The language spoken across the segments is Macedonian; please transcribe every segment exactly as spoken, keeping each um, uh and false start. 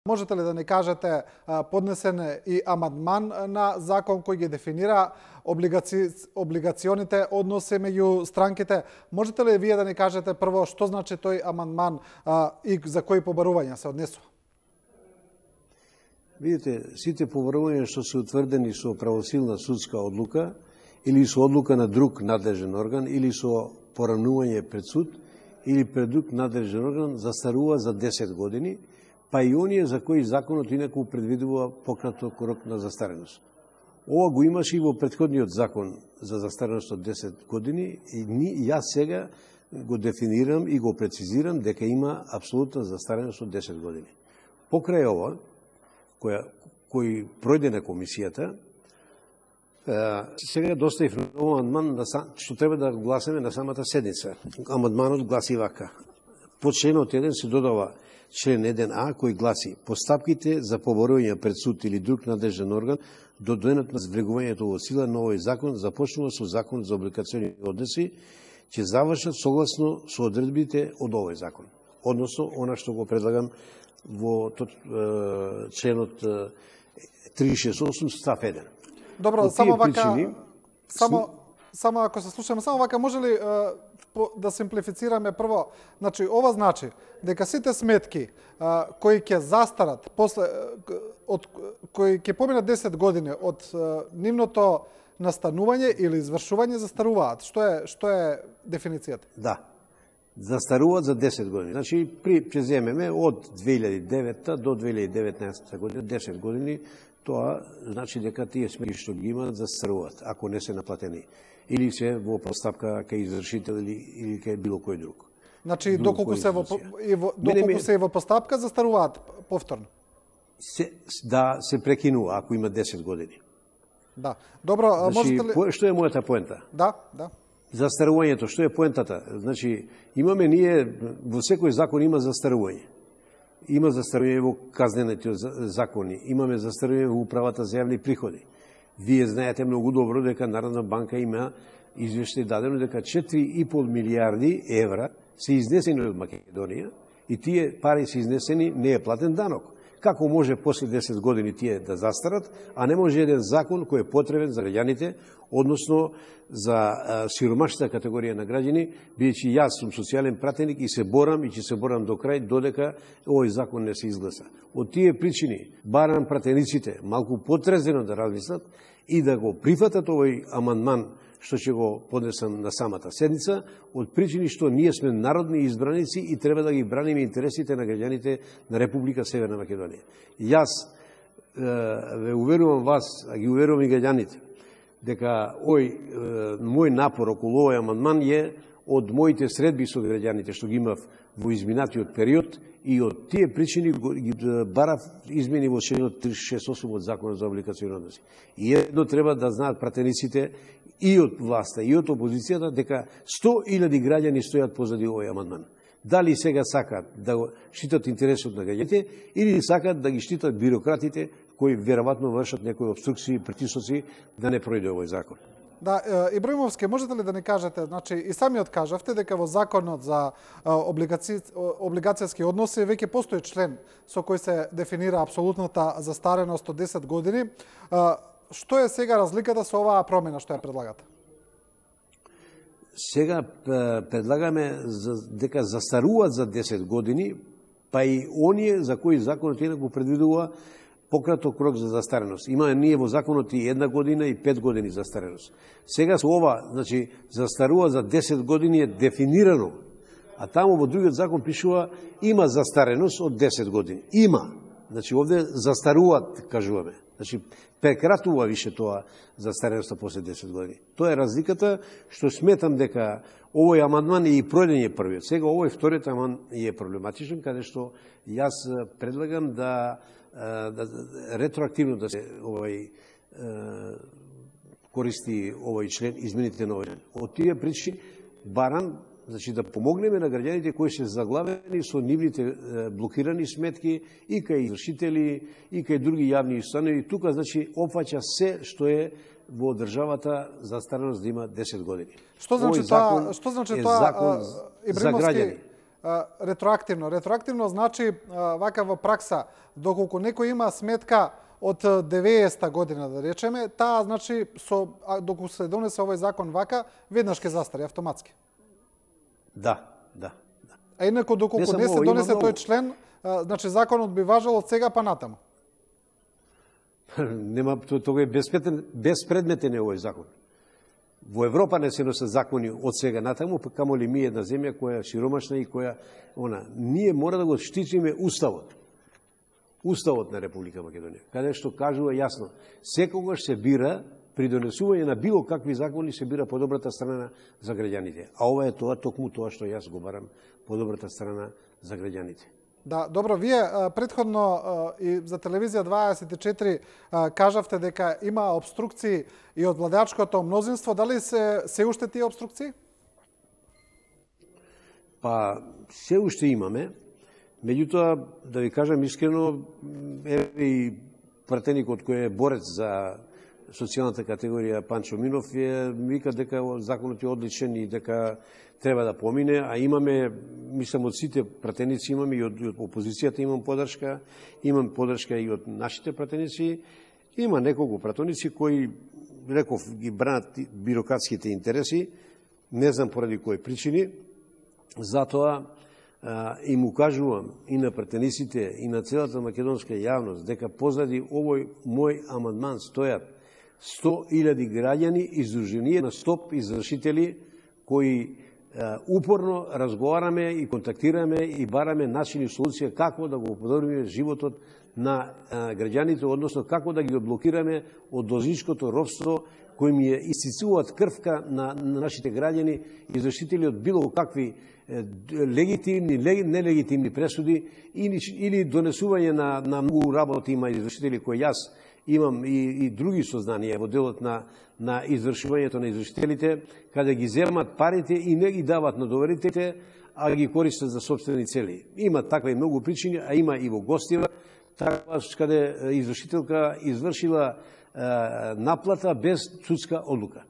Можете ли да ни кажете, поднесен и амандман на закон кој ги дефинира облигаци... облигационите односи меѓу странките? Можете ли вие да ни кажете прво што значи тој амандман а, и за кои побарувања се однесува? Видите, сите побарувања што се утврдени со правосилна судска одлука или со одлука на друг надлежен орган или со поранување пред суд или пред друг надлежен орган застарува за десет години, па и оние за кои законот инаку предвидува пократок рок на застареност. Ова го имаше и во претходниот закон за застареност од десет години и ни, јас сега го дефинирам и го прецизирам дека има апсолутна застареност од десет години. Покрај ова, која, кој пројде на комисијата, сега доставив нов амандман што треба да гласаме на самата седница. Амандманот гласи вака. По членот еден се додава член еден а кој гласи: постапките за поборување пред суд или друг надлежен орган до денот на влегувањето во сила на овој закон започнува со Закон за облигациони односи, ќе завршат согласно со одредбите од овој закон. Односно, она што го предлагам во членот триста шест осум став еден. Добро, само вака, причини, само, само ако се слушаме, само вака, може ли а, по, да симплифицираме прво? Значи, ова значи дека сите сметки а, кои ќе застарат, после, од, кои ќе поминат десет години од а, нивното настанување или извршување, застаруваат. Што е, што е дефиницијата? Да, застаруваат за десет години. Значи, при, ќе земеме од две илјади и девета до две илјади и деветнаесета година, десет години, тоа значи дека тие сметки што ги имаат застаруваат, ако не се наплатени. Или се во постапка кај извршител или, или кај било кој друг. Значи, друг доколку, се во, и во, доколку ме... се и во постапка, застаруваат повторно? Се, да, се прекинува, ако има десет години. Да. Добро, значи, можете ли... По, што е мојата поента? Да, да. Застарувањето, што е поентата? Значи, имаме ние, во секој закон има застарување. Има застарување во казнените закони, имаме застарување во управата за јавни приходи. Вие знаете многу добро дека Народна банка има извештај дадено дека четири и пол милијарди евра се изнесени од Македонија и тие пари се изнесени, не е платен данок. Како може после десет години тие да застарат, а не може еден закон кој е потребен за граѓаните, односно за сиромашната категорија на граѓани, бидејќи јас сум социјален пратеник и се борам и ќе се борам до крај додека овој закон не се изгласа. Од тие причини барам пратениците малку потрезено да размислат и да го прифатат овој амандман што ќе го поднесам на самата седница, од причини што ние сме народни избраници и треба да ги браниме интересите на граѓаните на Република Северна Македонија. Јас ве уверувам вас, а ги уверувам и граѓаните, дека ој мој напор околу овој амандман е од моите средби со граѓаните што ги имав во изминатиот период и од тие причини ги барав измени во членот триста шест осум од Законот за облигациони односи. И едно треба да знаат пратениците и од власта и од опозицијата дека сто илјади граѓани стојат позади овој амандман. Дали сега сакат да го штитат интересот на граѓаните или сакат да ги штитат бирократите кои веројатно вршат некои обструкции и притисоци да не пројде овој закон. Да, Ибраимовски, можете ли да ни кажете, значи и самиот кажавте дека во законот за облигаци... облигацијски односи веќе постои член со кој се дефинира апсолутната застареност од десет години. Што е сега разликата со оваа промена што ја предлагате? Сега предлагаме дека застаруваат за десет години, па и оние за кои законот инаку предвидува пократок рок за застареност. Има ние во законот и една година и пет години застареност. Сега со ова, значи, застарува за десет години е дефинирано, а таму во другиот закон пишува има застареност од десет години. Има. Значи, овде застаруваат, кажуваме. Значи, прекратува више тоа застареноста после десет години. Тоа е разликата што сметам дека овој амандман е и пројден е првиот. Сега овој вториот амандман е проблематичен, каде што јас предлагам да да ретроактивно да се овој користи овој член, измените на овој член. Од тие причини барам, значи да помогнеме на граѓаните кои се заглавени со нивните блокирани сметки и кај извршители и кај други јавни установи. Тука значи опфаќа се што е во државата застареност да има десет години. Што значи тоа? Што значи тоа? За граѓани. ретроактивно. Ретроактивно значи вака во пракса, доколку некој има сметка од деветдесета година, да речеме, таа значи со доколку се донесе овој закон вака, веднаш ќе застари автоматски. Да, да, да. А инаку доколку не, не се донесе тој член, значи законот би важел од сега па натаму. Нема, тоа е безпредметен е овој закон. Во Европа не се носат закони од сега натаму, па камоли ми една земја која е сиромашна и која она, ние мора да го штитиме уставот. Уставот на Република Македонија, каде што кажува јасно, секогаш се бира при донесување на било какви закони се бира подобрата страна за граѓаните. А ова е тоа, токму тоа што јас го барам, подобрата страна за граѓаните. Да, добро, вие претходно и за телевизија дваесет и четири кажавте дека има обструкции и од владеачкото мнозинство. Дали се се уште тие обструкции? Па се уште имаме. Меѓутоа, да ви кажам искрено, еве и пратеникот кој е борец за социјалната категорија Панчо Минов е вика дека законот е одличен и дека треба да помине, а имаме, мислам, од сите пратеници имаме и од, и од опозицијата имам подршка, имам подршка и од нашите пратеници. Има неколку пратеници кои, реков, ги бранат бирократските интереси, не знам поради кои причини, затоа а, им укажувам и на пратениците и на целата македонска јавност дека позади овој мој амандман стојат сто илјади граѓани издружени на стоп извршители кои упорно разговараме и контактираме и бараме начини и солуција како да го подобриме животот на граѓаните, односно како да ги одблокираме од должничкото робство кој ми е истицуваат крвка на, на нашите граѓани, извршители од било какви легитимни, нелегитимни пресуди или, или донесување на, на многу работи има извршители кои јас имам и, и други сознанија во делот на, на извршувањето на извршителите, каде ги земат парите и не ги дават на доверителите, а ги користат за собствени цели. Има таква и многу причини, а има и во Гостива, таква каде извршителка извршила е, наплата без судска одлука.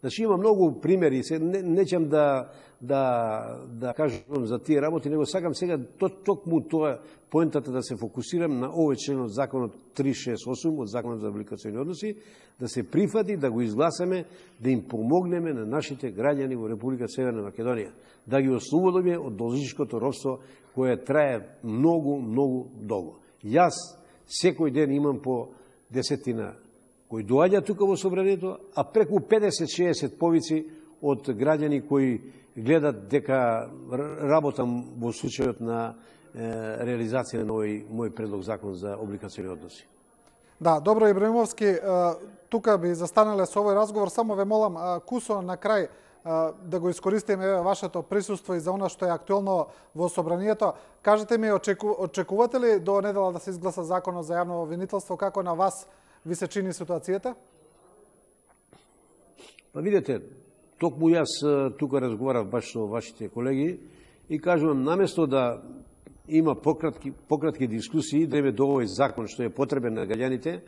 Значи има многу примери, се не, нечам да да да кажам за тие работи, него сакам сега токму тоа поентата да се фокусирам на овој член од законот триста шесет и осум од законот за облигациони односи, да се прифати, да го изгласаме, да им помогнеме на нашите граѓани во Република Северна Македонија, да ги ослободиме од должничкото робство кое трае многу, многу долго. Јас секој ден имам по десетина кои доаѓа тука во собранието, а преку педесет до шеесет повици од граѓани кои гледат дека работам во случајот на е, реализација на овој мој предлог закон за облигациони односи. Да, добро, Ибраимовски, тука би застанале со овој разговор. Само ве молам, кусо на крај да го искористиме еве вашето присуство и за она што е актуелно во собранието. Кажете ми, очеку, очекувате ли до недела да се изгласа законот за јавно обвинителство? Како на вас ви се чини ситуацијата? Па видете, токму јас тука разговарав баш со вашите колеги и кажувам, наместо да има пократки, пократки дискусии, да име до овој закон што е потребен на граѓаните,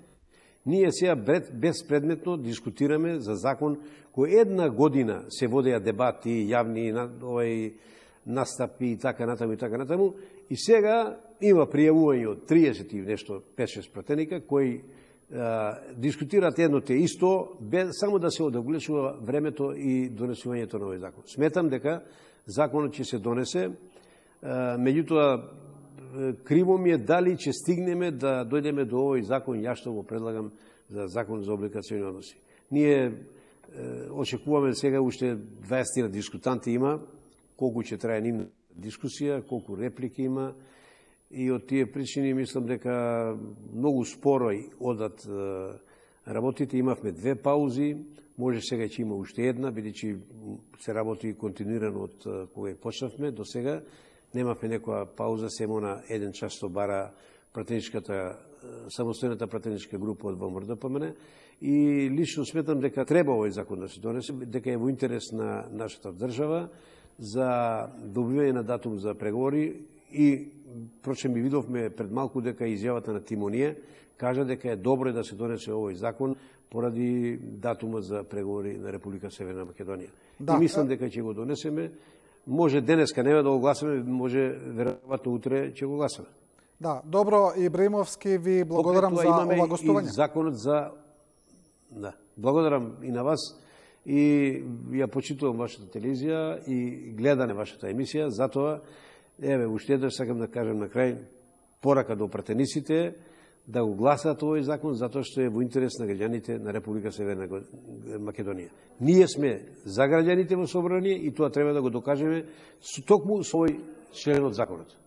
ние сега безпредметно дискутираме за закон кој една година се водеа дебати, јавни овој настапи и така натаму и така натаму, и сега има пријавување од триесет и нешто пет-шест пратеника кои дискутираат едно те исто, без само да се одоглечува времето и донесувањето на овој закон. Сметам дека законот ќе се донесе, меѓутоа криво ми е дали ќе стигнеме да дојдеме до овој закон, јас што го предлагам за закон за облигациони односи. Ние очекуваме сега уште дваесет дискутанти има, колку ќе трае нивна дискусија, колку реплики има, и од тие причини мислам дека многу споро одат работите. Имавме две паузи, може сега ќе има уште една, бидејќи се работи континуирано од кога почнавме до сега. Немавме некоја пауза, само на еден час што бара пратеничката, самостојната пратеничка група од ВМРО-ДПМН. И лично сметам дека треба овој закон да се донесе, дека е во интерес на нашата држава за добивање на датум за преговори. И прочем, ми видовме пред малку дека изјавата на Тимонија кажа дека е добро да се донесе овој закон поради датумот за преговори на Република Северна Македонија. Да. И мислам дека ќе го донесеме, Може денеска нема да го гласаме, може веројатно утре ќе го гласаме. Да, добро, Ибраимовски, ви благодарам за ова гостување. И законот за да, благодарам и на вас и ја почитувам вашата телевизија и гледане вашата емисија, затоа еве уште еднаш сакам да кажам на крај порака до пратениците да го гласаат овој закон, затоа што е во интерес на граѓаните на Република Северна Македонија. Ние сме за граѓаните во собрание и тоа треба да го докажеме со токму со овој член од законот.